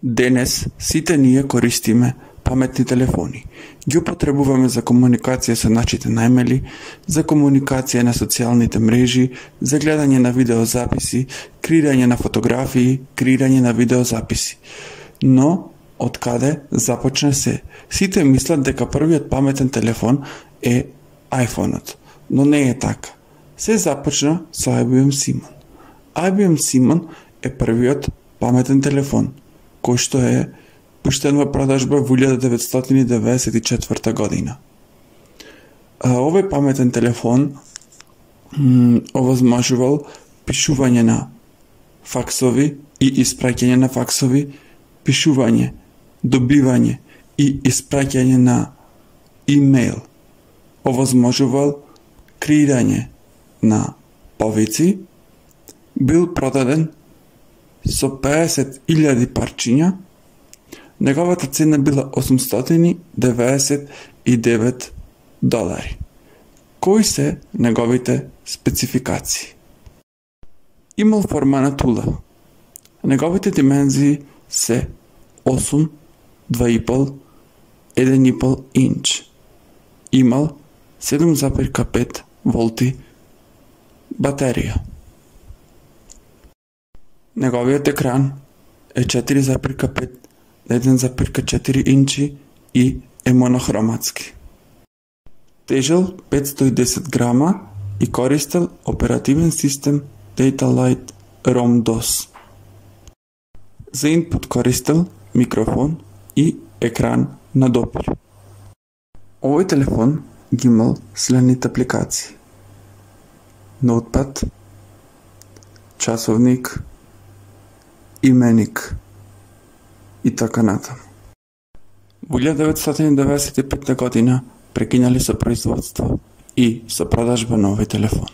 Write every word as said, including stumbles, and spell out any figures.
Денес сите ние користиме паметни телефони. Ги употребуваме за комуникација со нашите најмели, за комуникација на социјалните мрежи, за гледање на видеозаписи, креирање на фотографии, креирање на видеозаписи. Но, од каде започна се? Сите мислат дека првиот паметен телефон е iPhone-от, но не е така. Се започна со I B M Simon. I B M Simon е првиот паметен телефон, кој што е пуштен во продажба во илјада деветстотини деведесет и четврта година. Овој паметен телефон овозможувал пишување на факсови и испраќање на факсови, пишување, добивање и испраќање на имейл. Овозможувал креирање на повици, бил продаден со пеесет илјади парчиња. Неговата цена била осумстотини деведесет и девет долари. Кои се неговите спецификации? Имал форма на тула. Неговите димензии се осум, два и пол, еден и пол инч. Имал седум зарез пет волти батерија. Неговиот екран е четири зарез пет, еден зарез четири инчи и е монохроматски. Тежел петстотини и десет грама и користел оперативен систем Data Lite ROM DOS. За инпут користел микрофон и екран на допир. Овој телефон ги имал следните апликации: ноутпад, часовник, именик и така натаму. Во илјада деветстотини деведесет и петта година прекинале со производство и со продажба на овој телефон.